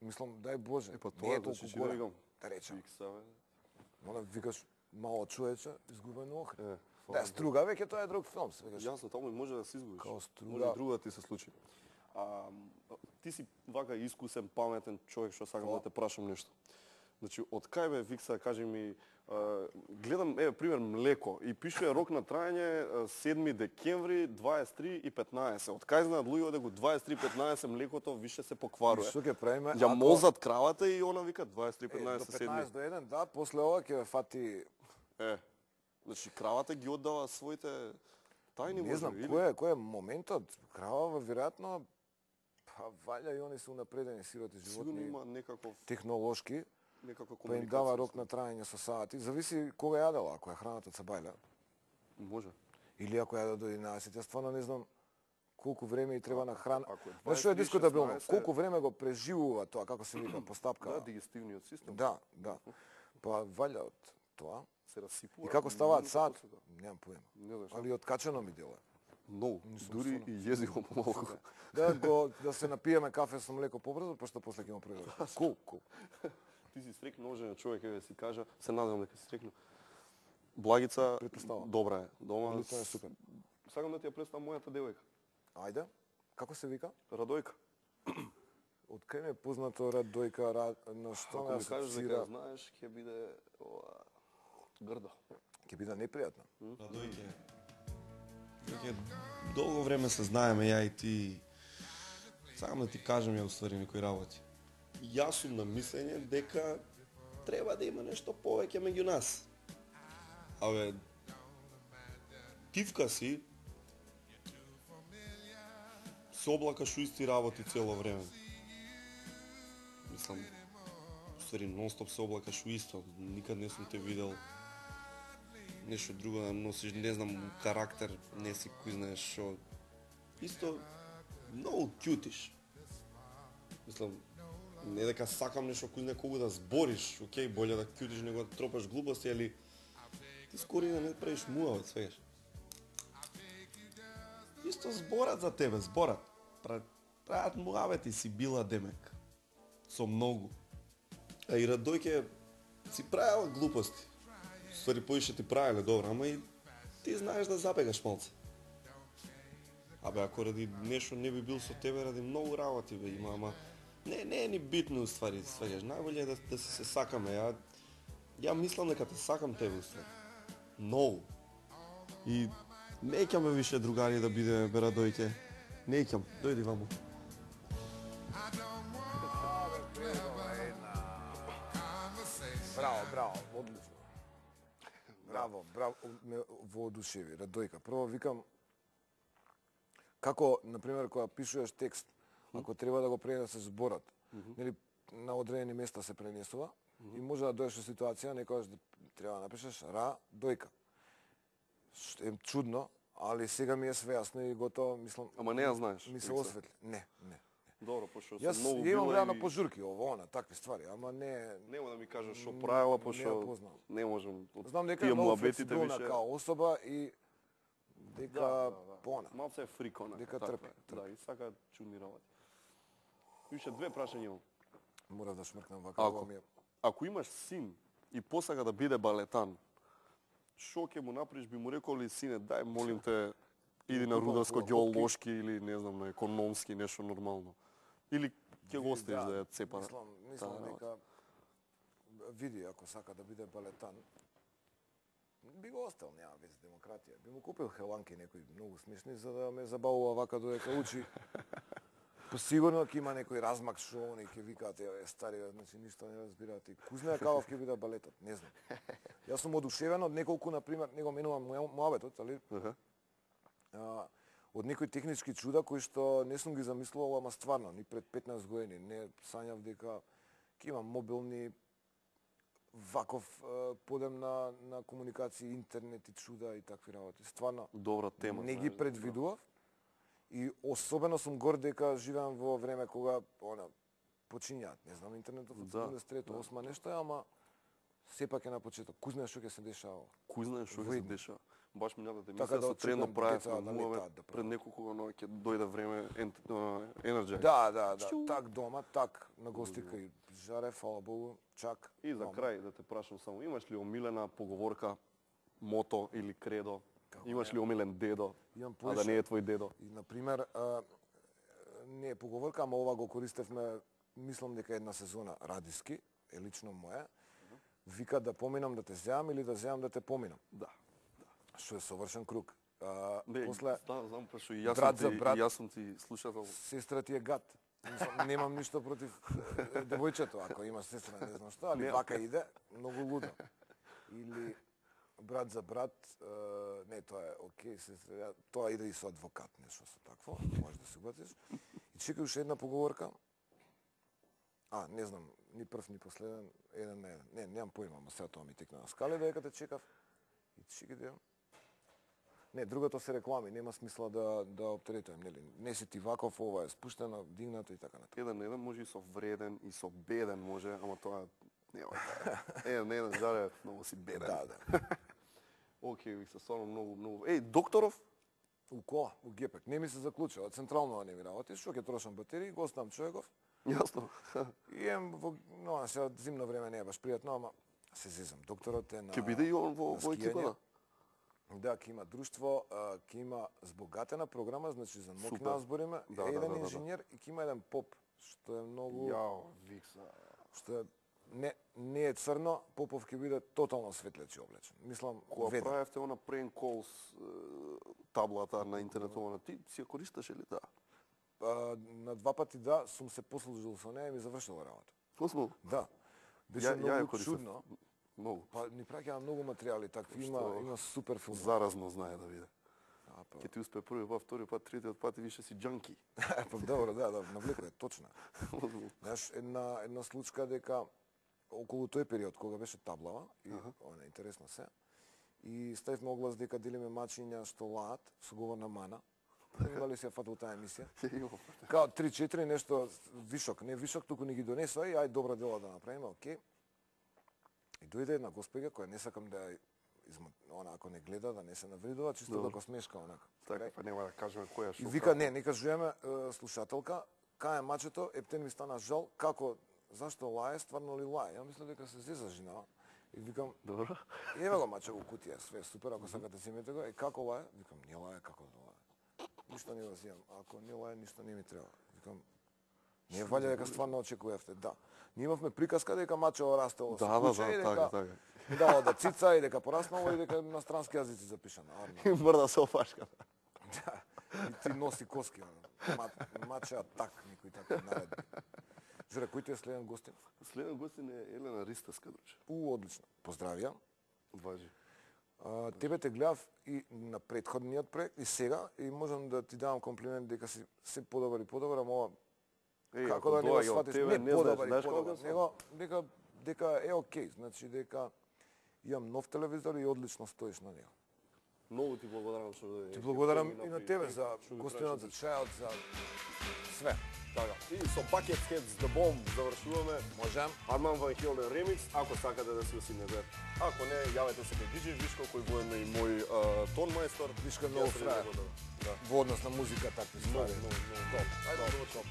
Мислам, дај Боже, Па не е тоа толку значи голем. викам. Да речем. Фикса, бе. Мора викаш мало човече, изгубено охрана. фала Да, Струга веќе тоа е друг филм, свегаш. Јасно, таму и може да се изгубиш. Као Струга. Може и друго да ти се случи. Ти си вака искусен, паметен човек, што сакам да те прашам нешто. Значи, од кај бе, Викса, кажи ми, гледам, пример, млеко и пишува рок на трајање 7 декември 23:15. Од кај знаат луѓе дека 23:15 млекото више се покварува. Што ќе правиме? Ја мозат кравата и она вика 23:15 до 15 7. до 1, да, после ова ќе фати. Значи кравата ги оддава своите тајни, Не знам кој е моментот. Крава веројатно па валја и они се унапредени сироти Сигурно животни има некаков технолошки. некаква Па им комуникација. дава рок на трајање со сати. Зависи кога јадела, ако е храната цабајля. Може. Или ако јаде до 11, јас стварно не знам колку време и треба на храна. ако е Знаеш што е 23, дискутабилно? 16, Колку време го преживува тоа, како се вика, постапка. Да, дигестивниот систем. Да, да. Па валја од тоа. Се расипува. И како ставаат сад, после тоа. немам поема. Не знам што. Али откачено ми делува. Многу. Дури стварно. и језиком помалку. Да се напиеме кафе со млеко побрзо, пошто после ќе му преведе. Кул. Ти си срекно оженет човек, еве си кажа, се надевам дека си срекно. Благица Претпоставам. добра е. Дома Луто е супер. Сакам да ти ја представам мојата девојка, Ајде. Како се вика? Радојка. Од кај ми е познато Радојка, на што Ако ме ми кажеш дека асоцира, ја знаеш, ќе биде грдо. ќе биде непријатно. Радојке. Веќе долго време се знаеме ја и ти. Сакам да ти кажам ја уствари некои работи. Јас сум на мислење дека треба да има нешто повеќе меѓу нас. Абе, тивка си, се облакаш у исти работи цело време. Мислам, уствари нон-стоп се облакаш у исто. Никад не сум те видел нешто друго да носиш, не знам, карактер, не си кој знаеш што. Исто, многу кјутиш. Мислам, не дека сакам нешто кој знае колку да збориш, окей, боле да кјутиш него да тропаш глупости, али ти скоро и да не правиш муавет, свегаш. Исто зборат за тебе, зборат. Прават муавет и си била демек. Со многу. А и Радојке си правила глупости. Ствари поише ти правиле добро, ама и ти знаеш да забегаш малце. Абе, ако ради нешто не би бил со тебе, ради многу работи бе има, ама не е ни битно уствари, свегаш. Најболje е да се сакаме. Ја мислам дека те сакам тебе уствари. Многу. И неќам бе више другари да биде бе Радојке. Неќам, дојди ваму. Браво, одлично. Браво, ме воодушеви, Радојка. Прво викам, како, например, кога пишуваш текст, ако треба да го пренесеш зборот, нели, на одредени места се пренесува, и може да дојдеш во ситуација, некогаш да треба да напишеш Радојка. Што е чудно, али сега ми е све јасно и готово, мислам... Ама не ја знаеш. Ми се Викса. осветли. Не. Добро, пошто Јас сум многу имам била реално и пожурки, ово, она, такви ствари, ама не... нема да ми кажеш што правила, Не ја пошто познавам. не можам. Знам дека Тие е многу муабетите флексибилна више- као особа и дека пона. Малце е фрикона. Дека таква трпи, е. Да, и сака чудни работи. Више две прашања имам. Морав да шмркнам вака, Ако ова ми е... ако имаш син и посака да биде балетан, што ќе му направиш, би му рекол ли сине, дај молим те иди на Купам рударско-геолошки или не знам на економски нешто нормално. Или ќе го оставиш да ја цепа. Мислам таа дека види ако сака да биде балетан, би го остал, нема веќе демократија. Би му купил хеланки некои многу смешни за да ме забавува вака додека учи. Посигурно ќе има некој размак што они ќе викаат е стари, значи ништо не разбираат и кузна каков ќе биде балетот, не знам. Јас сум одушевен од неколку, на пример, него менувам муабетот, али од некои технички чуда кои што не сум ги замислувал, ама стварно, ни пред 15 години не сањав дека ќе имам мобилни ваков подем на комуникација, интернет и чуда и такви работи. Стварно, Добра тема. не ги предвидував и особено сум горд дека живеам во време кога почињаат, не знам, интернетот од 73-8 нешто е, ама сепак е на почеток. Кој знае што ќе се дешава? Кој знае што ќе се дешава? баш минатата емисија Така да со трено очекувам правев деца на да муваме летаат да пред неколку но ќе дојде време Energy. Да, так дома, так на гостика и жаре, фала Богу, чак. И за крај да те прашам само, имаш ли омилена поговорка, мото или кредо? Имаш ли омилен дедо, Имам а да не е твој дедо? И, например, не е поговорка, ама ова го користевме, мислам дека една сезона радиски, е лично моја. Вика да поминам да те зеам или да зеам да те поминам. Да. Што е совршен круг. Не, После знам, пошто и брат за брат, јас сум ти слушател. сестра ти е гад. Немам ништо против девојчето, ако има сестра, не знам што, али вака иде, многу лудо. Или брат за брат, не, тоа е окей, сестра, тоа иде и со адвокат, нешто со такво, можеш да се угатиш. И чекай уште една поговорка. Не знам, ни прв, ни последен, еден на еден. Не, немам поима, ама сега тоа ми текна на скале, дека те чекав. И чекай да... Не, другото се реклами, нема смисла да оптеретувам, нели? Не си ти ваков, ова е спуштено, дигнато и така натаму. Еден на еден може и со вреден, и со беден може, ама тоа нема така. Еден на еден жаре, многу си беден. Да. Океј, Викса, стварно многу. Еј, докторов? У кола, у гепек. Не ми се заклучува, централно не ми работи, што ќе трошам батерии, го оставам човеков. Јасно. И сега зимно време не е баш пријатно, ама се зезам. Докторот е на... Ќе биде и он во екипата? Да, ќе има друштво, ќе има збогатена програма, значи за ноќна збориме, еден инженер и ќе има еден поп, што е многу... Јао, Викса. Што е не е црно, Попов ќе биде тотално светлечи облечен. Мислам, кога правевте она prank calls таблата на интернетова, ти си ја користеше ли таа? На два пати да, сум се послужил со неја и ми завршила работа. Осмо? Да. Беше многу чудно. Многу. Па ни праќаа многу материјали, такви има супер филм. Заразно знае да биде. Ке ти успе први пат, втори пат, третиот пат и више си джанки. Па добро, да, навлеко е точно. Знаеш, една случка дека околу тој период кога беше таблава и она интересно се. И ставивме оглас дека делиме мачиња што лаат со говорна мана. Дали се фатал таа емисија? Као 3-4 нешто вишок, не вишок, туку ни ги донесоа и ај добра дела да направиме, окей. И дојде една госпеѓа која не сакам да она ако не гледа да не се навредува, чисто да го смешка онака. Така, па нема да кажеме која што. И вика не кажуваме слушателка, кај е мачето, ептен ми стана жал, како зашто лае, стварно ли лае? Ја мислам дека се зеза жена. И викам, добро. Еве го маче во кутија, све супер, ако сакате земете го. И како лае? Викам, не лае, како да лае. Ништо не го земам. Ако не лае, ништо не ми треба. Викам, не валја дека стварно очекувавте. Да. Ние имавме приказка дека мачево растело со куче и дека дало да цица и дека пораснало и дека на странски јазици запишано. И мрда се опашка. Да. И ти носи коски. Мачеа так, никој така наредби. Журе, кој ти е следен гостин? Следен гостин е Елена Ристевска, друже. Одлично. Поздравија. Важи. Тебе те гледав и на претходниот проект и сега и можам да ти давам комплимент дека си се подобар и подобар, ама ова како да не го сватиш, не подобар и подобар, дека е окей, значи дека имам нов телевизор и одлично стоиш на него. Многу ти благодарам што ти благодарам и на тебе за гостинот, за чајот, за све. Така. И со Bucket Heads The Bomb завршуваме. Можем. Арман Ван Хелден ремикс, ако сакате да си усимнете. Ако не, јавете се кај DJ Вишко, кој го е и мој тон мајстор. Вишко многу фраер. Во однос на музика, такви ствари. Ајде, добро.